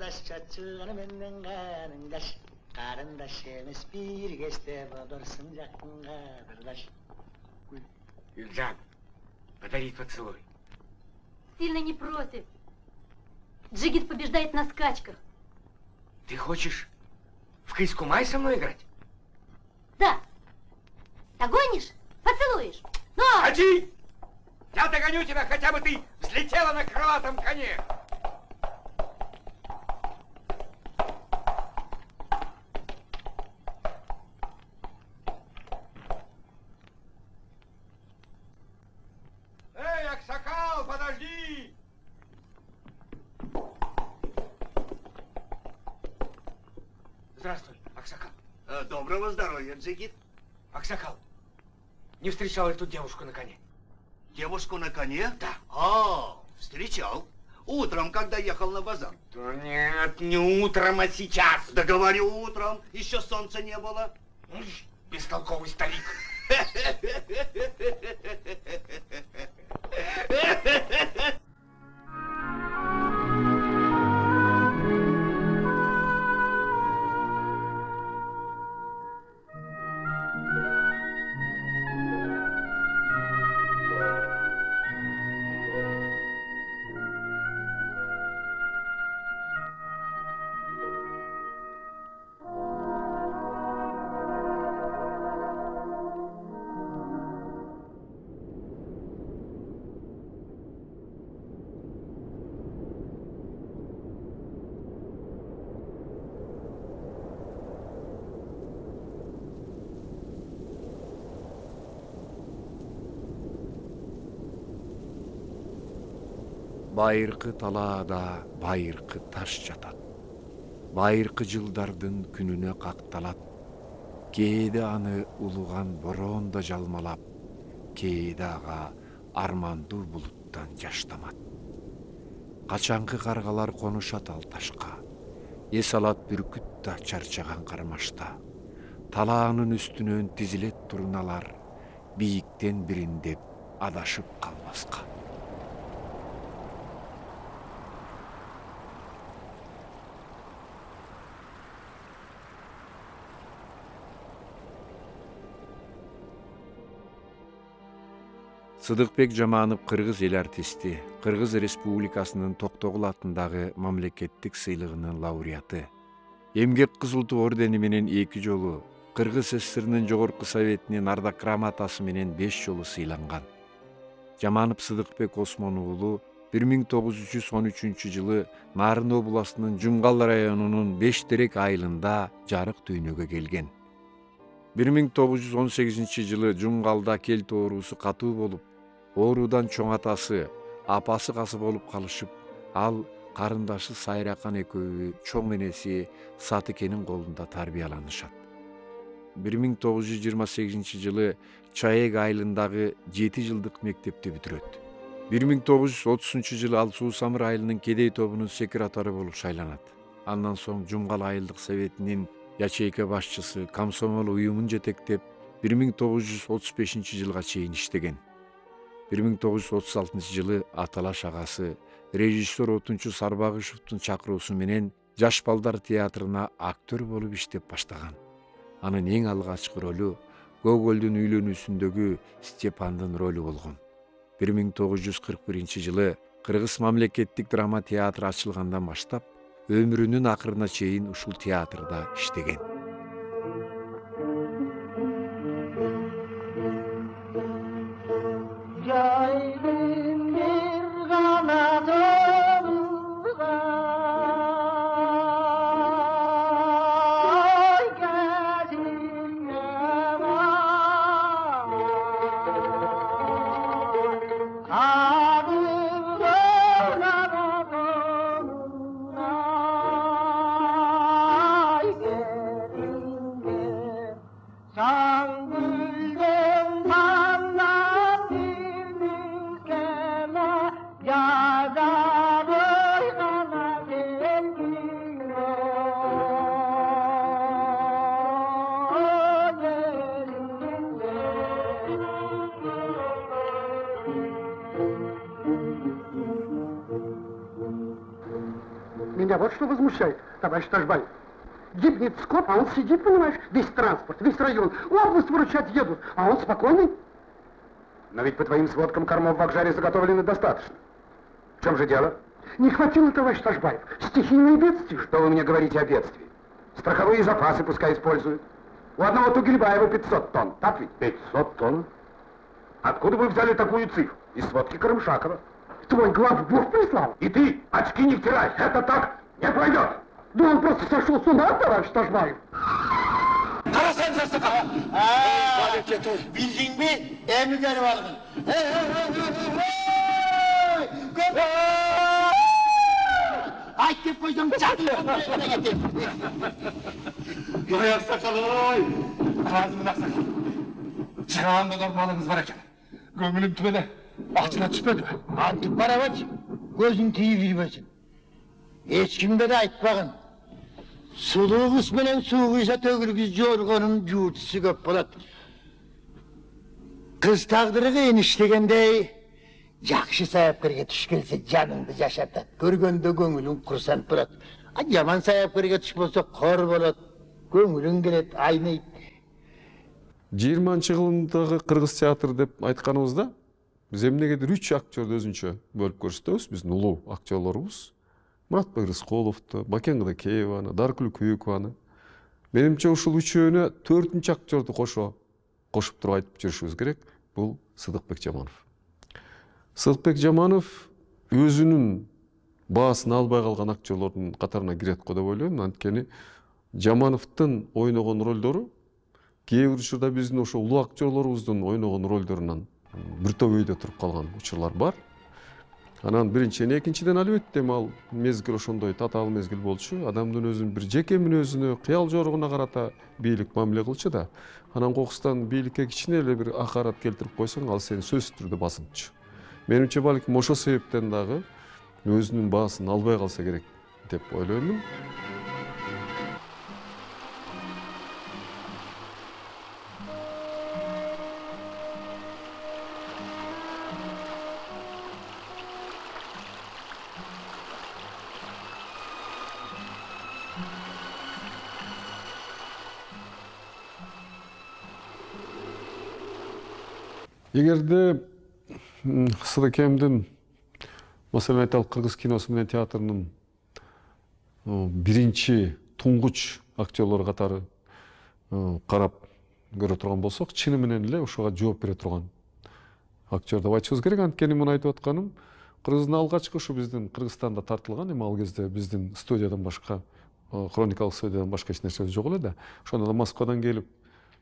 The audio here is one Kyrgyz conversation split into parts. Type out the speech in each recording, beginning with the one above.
Karındaş çatçığını benden karındaş. Karındaş emez bir geçte bulursun yakın karındaş. Ильзан, подари поцелуй. Сильно не против. Джигит побеждает на скачках. Ты хочешь в кысь-кумай со мной играть? Да. Догонишь? Поцелуешь. Но... Ходи! Я догоню тебя, хотя бы ты взлетела на крылатом коне. Эй, Аксакал, подожди! Здравствуй, Аксакал. Доброго здоровья, Джигит. Аксакал, не встречал ли тут девушку на коне? Девушку на коне? Да. Встречал. Утром, когда ехал на базар. Да нет, не утром, а сейчас. Да говорю, утром. Еще солнца не было. Бестолковый старик. Байыркы талаада байыркы таш жатат. Байыркы жылдардын күнүнө какталат. Кээде аны улуган бороон да жалмалап, кээде ага армандуу булуттан жаш тамат. Качанкы каргалар конушат ал ташка. Эс алат бүркүт да чарчаган кармашта. Талаанын үстүнөн тизилет турналар, бийиктен бириндеп адашып калбаска. Сыдыкбек Жаманов кыргыз эл артисти, Кыргыз Республикасынын Токтогул атындагы мамлекеттик сыйлыгынын лауреаты. Эмгек Кызыл Ту ордени менен 2 жолу, Кыргыз СССРнын Жогорку Советинин Ардак грамотасы менен 5 жолу сыйланган. Жаманов Сыдыкбек Осмон уулу 1913 жылы Нарын областынын Жумгал районунун Беш Терек айылында жарык дүйнөгө келген. 1918 жылы Жумгалда келт оорусу катуу болуп, оорудан чоң атасы, апасы каза болуп калышып, ал карындашы Сайракан экөө чоң энеси Сатыкенин колунда тарбияланышат. 1928 жылы Чаек айылындагы 7 жылдык мектепти бүтүрөт. 1930 жылы ал Суусамыр айылынын кедей тобунун секретары болуп шайланат. Андан соң Жумгал айылдык советинин ячейка башчысы, комсомол уюмун жетектеп 1935 жылга чейин иштеген. 1936 жылы аталаш агасы режиссер Отунчу Сарбагышевдун чакыруусу менен Жаш балдар театрына актер болуп иштеп баштаган. Анын эң алгачкы ролу Гогольдун үйлөнүүсүндөгү Степандын ролу болгон. 1941 жылы Кыргыз мамлекеттик драма театры ачылгандан баштап өмүрүнүн акырына чейин ушул театрда иштеген. Меня вот что возмущает, товарищ Тажбаев. Гибнет скот, а он сидит, понимаешь, весь транспорт, весь район, область выручать едут, а он спокойный. Но ведь по твоим сводкам кормов в Акжаре заготовлено достаточно. В чем же дело? Не хватило, товарищ Тажбаев. Стихийные бедствия. Что вы мне говорите о бедствии? Страховые запасы пускай используют. У одного Тугельбаева 500 тонн, так ведь? 500 тонн? Откуда вы взяли такую цифру? Из сводки Карымшакова. Твой главбух прислал? И ты очки не втирай, это так не пройдет. Да он просто сошел с ума, товарищ Тажбаев. Карасан жастыка. Билдиң бе? Эми келип алгын. Айт деп койсоң чакырып. Ой, аксакал-ой! Казымын аксакал. Чыгаанда балыңыз бар экен. Көңүлүм түбеле. Акчына түшпөдүбү? Антып барабачы. Көзүң тийип жүрбөсүн. Эч кимге да айтпагын. Сулуу кыз менен суу кuysa төгүлгүз жоргонун жуутусу көп болот. Кыз тагдыры кыйын иштегендей, жакшы саяпкерге туш келсе жаныңды жашатат. Көргөндө көңүлүң курсанып турат. Жаман саяпкерге туш болсо кор болот. Көңүлүң келет, айныйт. 20-жылдагы кыргыз театр деп айтканыбызда биз эмнегедир 3 актёрду өзүнчө бөлүп көрсөтөбүз. Биздин улуу актёрлорубуз Муратбек Рыскуловду, Бакен Кыдакееваны, Даркүл Күйүкованы. Менимче ушул үчөөнө 4-нчү актёрду кошуп туруп айтып жүрүшүбүз керек. Бул Сыдыкбек Жаманов. Сыдыкбек Жаманов өзүнүн баасын албай калган актёрлордун катарына кирет го деп ойлойм. Анткени Жамановдун ойногон ролдору кээ бир учурда биздин ошо улуу актёрлорубуздун ойногон ролдорунан бир топ өйдө туруп калган учурлар бар. Анан биринчиден, экинчиден албетте ал мезгил ошондой татаал мезгил болчу. Адамдын өзүнүн бир жеке мүнөзүнө, кыял жоругуна карата бийлик мамиле кылчу да. Анан кокустан бийликке кичине эле бир акарат келтирип койсоң, ал сени сөзсүз түрдө басынтчу. Менимче балким ошол себептен дагы өзүнүн баасын албай калса керек деп ойлоймун. Эгерде Сыдыкемдин, маселен айталык, кыргыз киносу менен театрынын биринчи туңгуч актерлору катары карап көрө турган болсок, чыны менен эле ошого жооп бере турган актер деп айтышыбыз керек. Анткени муну айтып атканым, кыргыздын алгачкы ушу биздин Кыргызстанда тартылган, эми ал кезде биздин студиядан башка, хроникалык студиядан башка эч нерсе жок эле да. Ошондо да Москвадан келип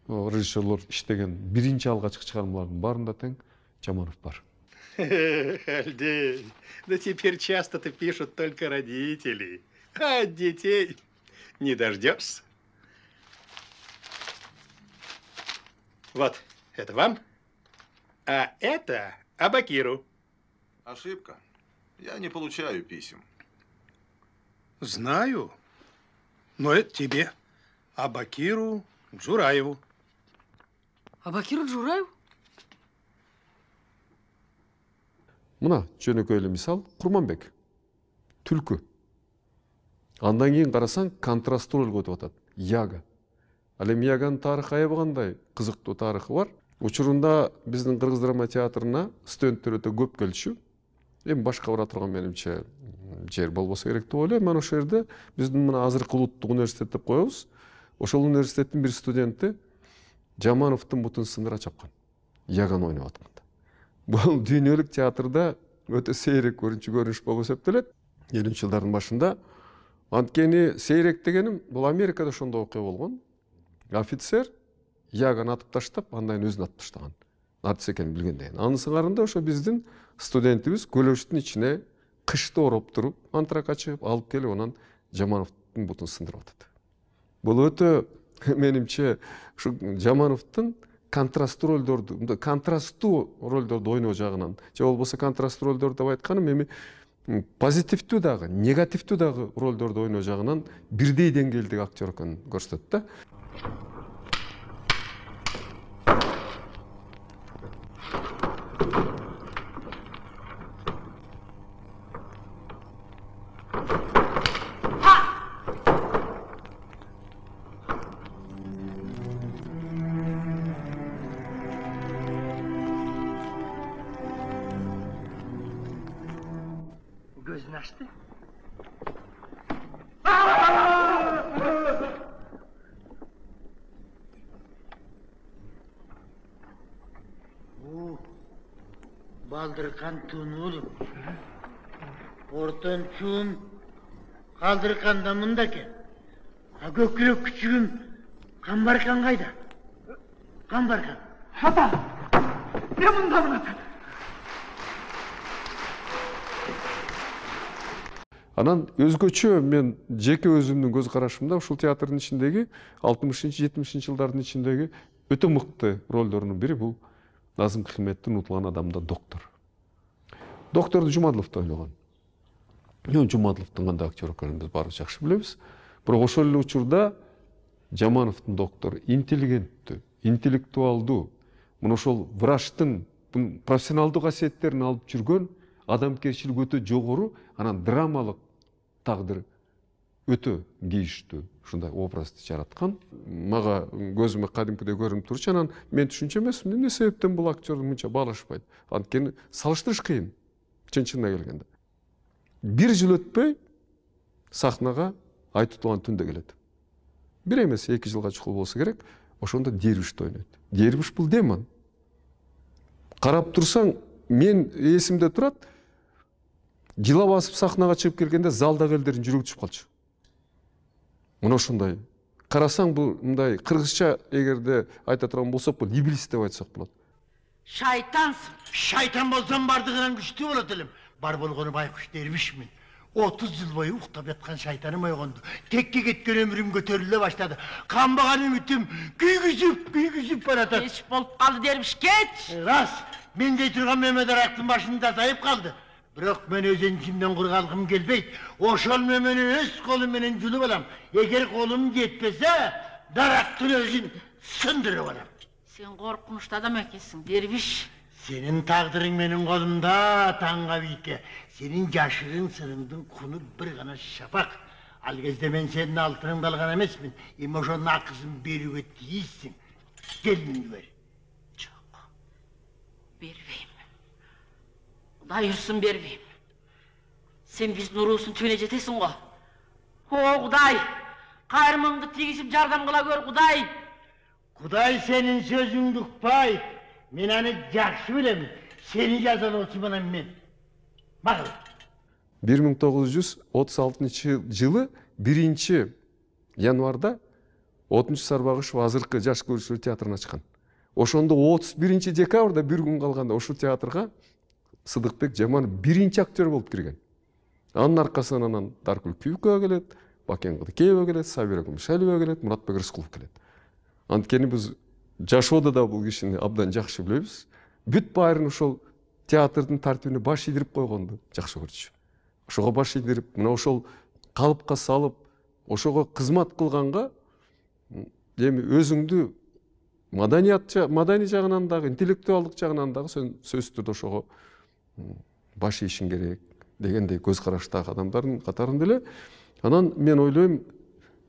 режиссерлор иштеген биринчи алгачкы чыгармалардын баарында тең Жаманов бар. Альдей, да теперь часто-то пишут только родители, а от детей не дождешься. Вот, это вам, а это Абакиру. Ошибка. Я не получаю писем. Знаю, но это тебе, Абакиру Джураеву. Абакиру Джураев? Мына жөнөкөй эле мисал, Курманбек. Түлкү. Андан кийин карасаң, контрасттуу ролго өтүп атат. Яга. Ал эми Яганын тарыхы аябагандай кызыктуу тарыхы бар. Учурунда биздин Кыргыз драма театрына студенттер өтө көп келчү. Эми башка бара турган менимче жер болбосо керек деп ойлойм. Мен ошол жерде биздин мына азыркы улуттук университет деп коебуз. Ошол университеттин бир студенти Жамановдун бутун сындыра чапкан. Яган ойноп атканда. Бул дүйнөлүк театрда өтө сейрек көрүнүш болуп эсептелет. 70-жылдардын башында. Анткени сейрек дегеним бул Америкада ошондой окуя болгон. Офицер Яган атып таштап, андан өзүн атып таштаган. Артист экенин билгенден. Анын сыңарында ошо биздин студентибиз көлөштүн ичине кышты ороп туруп, антрак ачып, алып келип, анан Жамановдун бутун сындырып атат. Бул өтө менимче ушу Жамановдун контрасттуу ролдорду ойноо жагынан, же болбосо контрасттуу ролдор деп айтканым эми позитивдүү дагы, негативдүү дагы ролдорду ойноо жагынан бирдей деңгээлдеги актер экенин көрсөтөт да. көзүн ачты. Балдыркан туну Ортон чуум калдырканда мында экен. А көкүрөк күчүгүм Камбаркан кайда? Камбаркан. Ата! Мен мындамын ата. Анан өзгөчө мен жеке өзүмдүн көз карашымда ушул театрдын ичиндеги 60-70 жылдардын ичиндеги өтө мыкты ролдордун бири бул Назым Хикметтин Унутулган адамда доктор. Докторду Жумадылов да ойлогон. Жумадыловдун кандай актер экенин биз баарыбыз жакшы билебиз. Бирок ошол эле учурда Жамановдун доктор интеллигенттүү, интеллектуалдуу, мына ошол врачтын профессионалдуу касиеттерин алып жүргөн, адамгерчилиги өтө жогору, анан драмалык тагдыр өтө кейиштүү ушундай образды жараткан. Мага көзүмө кадимкидей көрүнүп турчу, анан мен түшүнчү эмесмин, эмне себептен бул актер мынча баалашпайт. Анткени салыштырыш кыйын, чын-чынына келгенде. Бир жыл өтпөй сахнага Айтутулган түндө келет. Бир эмес 2 жылга чукул болсо керек, ошондо Дербишти ойнойт. Дербиш бул демон. Карап турсаң, мен эсимде турат, жылап басып сахнага чыгып келгенде залдагы элдердин жүрөгү түшүп калчу. Мына ошондой. Карасаң бул мындай кыргызча эгерде айта турган болсок, бул иблис деп айтсак болот. Шайтансың. Шайтан болсам бардыгынан күчтүү болот элем. Бар болгону байкуш Дербишмин. 30 жыл бою уктап яткан шайтаным ойгонду. Текке кеткен өмүрүм көтөрүлө баштады. Камбаган үмүтүм күйгүзүп баратат. Кеч болуп калды Дербиш, кеч. Рас, мен дей турган Мемет Арактын башында тазайып калды. Бирок мен өзүнчүмдөн кургалгым келбейт. Ошол мемени өз колум менен жулуп алам. Эгер колум жетпесе, дарактын өзүн сындырып алам. Сен коркунучтуу адам экенсиң, Дербиш. Сенин тагдырың менин колумда, таңга бийке. Сенин жашырын сырыңдын куну бир гана шапак. Ал кезде мен сенин алтыныңды алган эмесмин. Эми ошонун акысын берүүгө тийиссиң. Келиңди бер. Жок. Бербейм. Кудай урсун, бербейм. Сен биздин уруубуздун түбүнө жетесиң го. О, Кудай! Кайрымыңды тийгизип жардам кыла көр, Кудай! Кудай сенин сөзүңдү укпайт. Мен аны жакшы билем. Сени жазалоочу менен мен. Макул. 1936 жылы 1-январда 6-Сарбагышев азыркы жаш көрүүчүлөр театрын ачкан. Ошондо 31 декабрда бир күн калганда ошол театрга Сыдыкбек Жаманов биринчи актер болуп кирген. Анын аркасынан анан Даркүл Күйүкова келет, Бакен Кыдыкеева келет, Сабира Кумшалиева келет, Муратбек Рыскулов келет. Анткени биз жашоодо да бул кишини абдан жакшы билебиз. Бүт баарын ошол театрдын тартибине баш ийдирип койгонду жакшы көрчү. Ошого баш ийдирип, мына ошол калыпка салып, ошого кызмат кылганга эми өзүңдү маданий жагынан дагы, интеллектуалдык жагынан дагы сөзсүз түрдө ошого баш ийишиң керек дегендей көз караштагы адамдардын катарында эле. Анан мен ойлойм,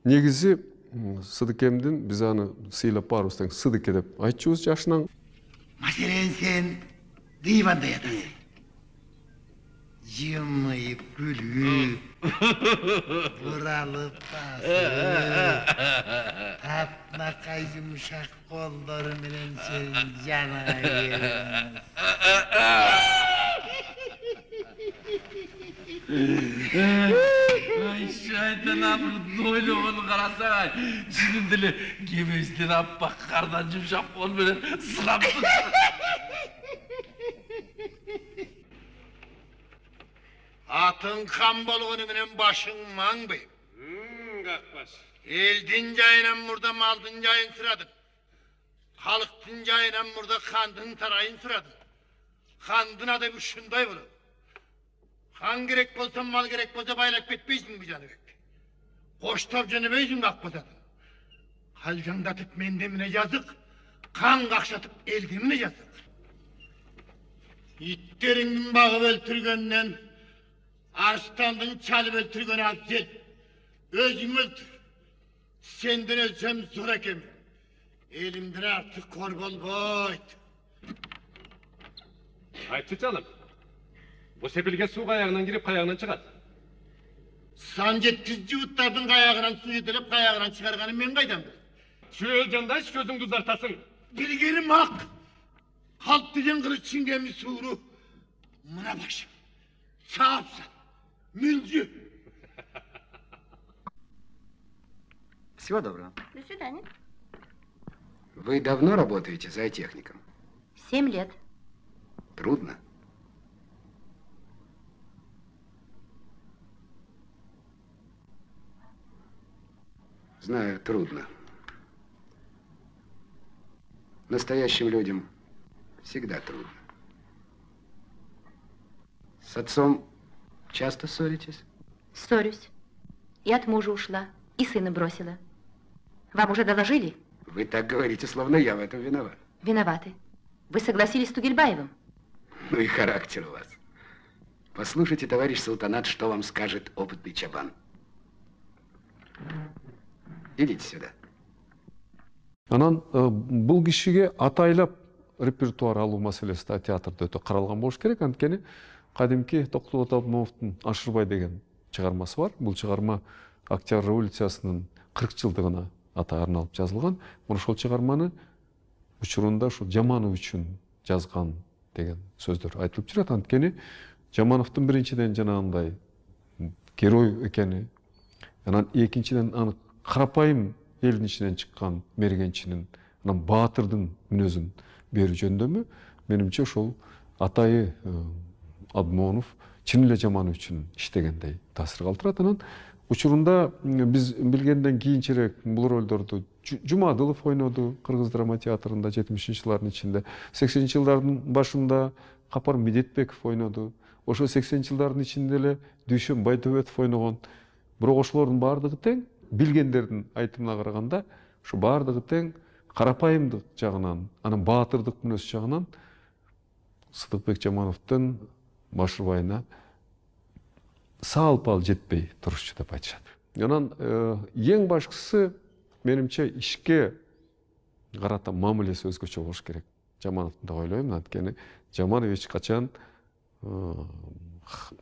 негизи Сыдыкемдин биз аны сыйлап барыбыз тең Сыдыке деп айтчубуз жашынан. Маселен сен диванда ятасың. Жымыйып күлүп, буралып басып, тапнакай жумшак колдору менен сен жана бериң. Ай, шайтан апырдын ойлогонун карасаң, чынында эле кебесинен аппак кардан жумшак кол менен сылап Атың кам болгону менен башың маңбы? Какпаш. Элдин жайынан мурда малдын жайын сурадың. Халыктын жайынан мурда кандын тарайын сурадың. Кандын адабы ушундай болот. Хан керек болса, мал керек болса байлап кетпейсиң Жаныбек. Коштоп жөнөбөйсүң Акбозатым. Калжаңдатып менде эмне жазык, кан какшатып элде эмне жазык. Иттериңдин багып өлтүргөндөн арстандын чалып өлтүргөнү абзел. Өзүң өлтүр. Сенден өлсөм зор экем. Элимден артык кор болбойт. Айтчы, жаным. Bu sepilge su kayağından girip kayağından çıkar. Сан жеткиз жууттардын каягынан суу жетелеп каягынан чыгарганын мен кайдан билем? Çöğülcandaş gözün kızartasın. Билгеним ак. Калп деген кыры чиңгеми сууру. Мына башым. Саапса. Мүлжү. Всего доброго. До свидания. Вы давно работаете зоотехником? 7 лет. Трудно? Знаю, трудно. Настоящим людям всегда трудно. С отцом часто ссоритесь? Ссорюсь. И от мужа ушла, и сына бросила. Вам уже доложили? Вы так говорите, словно я в этом виноват. Виноваты. Вы согласились с Тугельбаевым? Ну и характер у вас. Послушайте, товарищ Султанат, что вам скажет опытный чабан. Идите сюда. Анан бул кишиге атайлап репертуар алуу маселеси да театрда өтө каралган болуш керек. Анткени кадимки Токтогул Атамбаевдин Ашырбай деген чыгармасы бар. Бул чыгарма Октябрь революциясынын 40 жылдыгына арналып жазылган. Ошол чыгарманы учурунда ушул Жаманов үчүн жазган деген сөздөр айтылып жүрөт. Анткени Жамановдун биринчиден жанагындай герой экени, анан экинчиден аны карапайым элдин ичинен чыккан мергенчинин, анан баатырдын мүнөзүн берүү жөндөмү менимче ошол атайы Абдмонов чын эле Жаманов үчүн иштегендей таасир калтырат. Анан учурунда биз билгенден кийинчерээк бул ролдорду Жумадылов ойноду Кыргыз драма театрында 70-жылдардын ичинде. 80-жылдардын башында Капар Медетбеков ойноду. Ошо 80-жылдардын ичинде эле Дүйшөн Байтөбетов ойногон. Бирок ошолордун баардыгы тең, билгендердин айтымына караганда, ушу баардыгы тең карапайымдык жагынан, анан баатырдык мүнөз жагынан Сыдыкбек Жамановдун Машырбайына салпал жетпей турушчу деп айтышат. Анан эң башкысы менимче ишке карата мамилеси өзгөчө болуш керек. Жамановдун да ойлойм, анткени Жаманов эч качан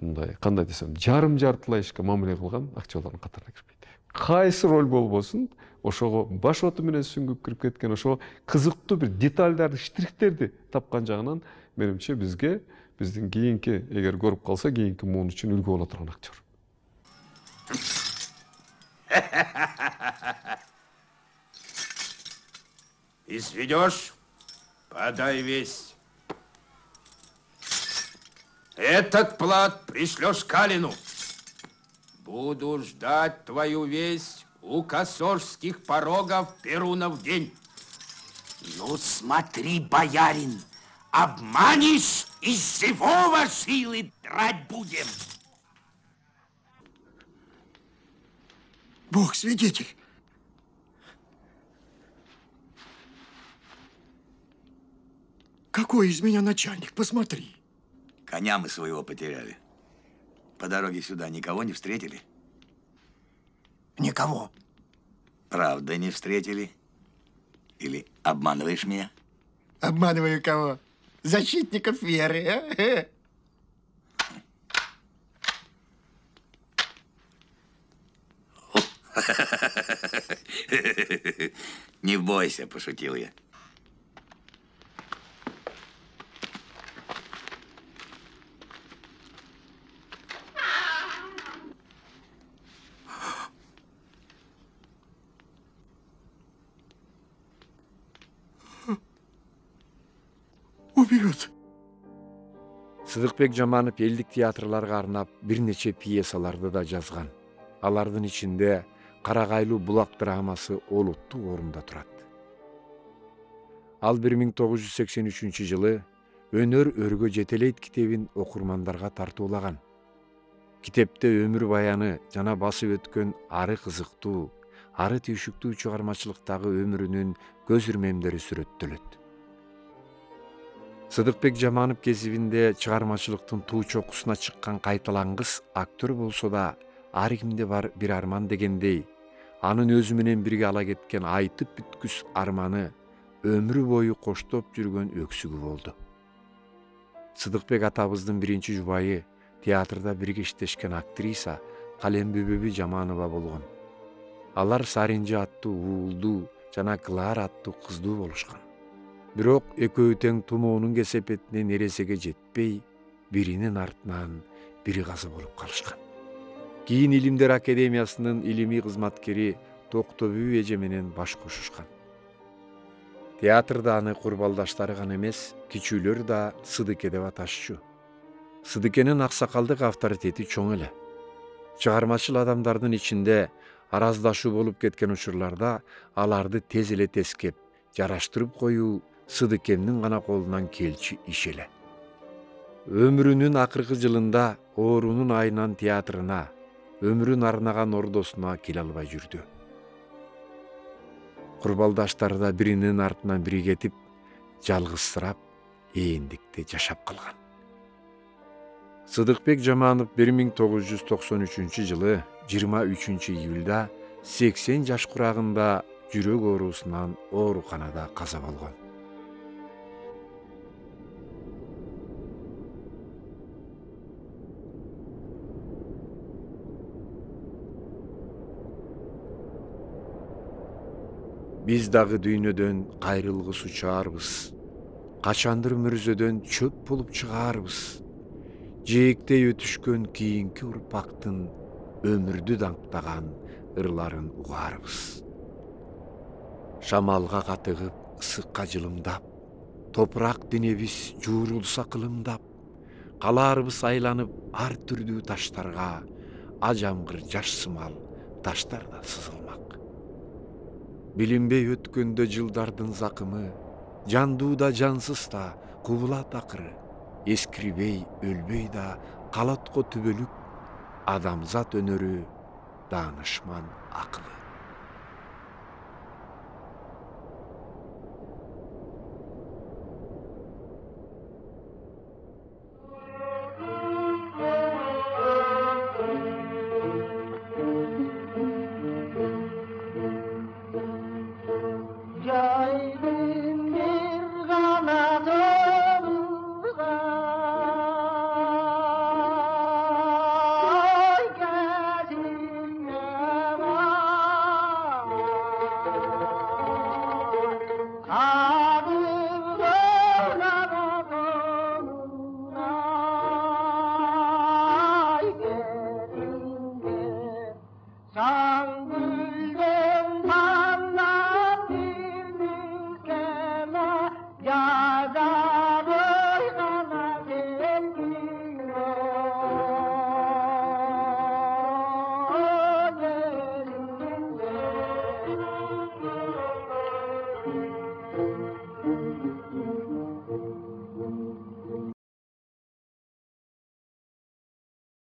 мындай кандай десем, жарым-жартылай ишке мамиле кылган актерлордун катарына кирбейт. Кайсы роль болбосун, ошого баш оту менен сүңгүп кирип кеткен, ошо кызыктуу бир детальдарды, штрихтерди тапкан жагынан менимче бизге биздин кийинки, эгер көрүп калса, кийинки муун үчүн үлгү боло турган актер. Изведешь? Подай весть. Этот плат пришлешь Калину. Буду ждать твою весть у косожских порогов Перунов день. Ну смотри, боярин, обманешь, из живого силы драть будем. Бог свидетель. Какой из меня начальник, посмотри. Коня мы своего потеряли. По дороге сюда никого не встретили? Никого. Правда не встретили? Или обманываешь меня? Обманываю кого? Защитников веры, а? Не бойся, пошутил я. Убьет. Сыдыкбек Жаманов элдик театрларга арнап бир нече пьесаларды да жазган. Алардын ичинде Карагайлуу булак драмасы олуттуу орунда турат. Ал 1983-жылы Өнөр өргө жетелейт китебин окурмандарга тартуулаган. Китепте өмүр баяны жана басып өткөн ары кызыктуу, ары түйшүктүү чыгармачылыктагы өмүрүнүн көз ирмемдери сүрөттөлөт. Сыдыкбек Жаманов кезибинде чыгармачылыктын туу чокусуна чыккан кайталангыс актер болсо да, ар кимде бар бир арман дегендей, анын өзү менен бирге ала кеткен айтып бүткүс арманы өмүрү бою коштоп жүргөн өксүгү болду. Сыдыкбек атабыздын биринчи жубайы театрда бирге иштешкен актриса Калембүбү Жаманова болгон. Алар Саринжи аттуу уулду жана Клара аттуу кыздуу болушкан. Бирок экөө тең тумоонун кесепетине нересеге жетпей, биринин артынан бири каза болуп калышкан. Кийин Илимдер Академиясынын илимий кызматкери Токтобү эже менен баш кошушкан. Театрда аны курбалдаштары гана эмес, кичүүлөр да Сыдыке деп аташчу. Сыдыкенин аксакалдык авторитети чоң эле. Чыгармачыл адамдардын ичинде араздашуу болуп кеткен учурларда аларды тез эле тескеп, жараштырып коюу Сыдыкенин гана колунан келчү иш эле. Өмүрүнүн акыркы жылында оорунун айынан театрына, өмүрүн арнаган ордосуна келе албай жүрдү. Курбалдаштары да биринин артынан бири кетип, жалгызсырап, ээндикте жашап калган. Сыдыкбек Жаманов 1993-жылы 23-июлда 80 жаш курагында жүрөк оорусунан ооруканада каза болгон. Биз дагы дүйнөдөн кайрылгыс учаарбыз. Качандыр мөрзөдөн чөп болуп чыгаарбыз. Жээктей өтүшкөн кийинки урпактын өмүрдү даңктаган ырларын угаарбыз. Шамалга катыгып, ысыкка жылымдап, топурак денебиз жуурулса кылымдап, калаарбыз айланып ар түрдүү таштарга, ажамгыр жаш сымал таштар да сызылмак. Билинбей өткөндө жылдардын закымы, жандуу да жансыз да кубулат акыры, эскирбей, өлбөй да калат го түбөлүк, адамзат өнөрү, даанышман акылы.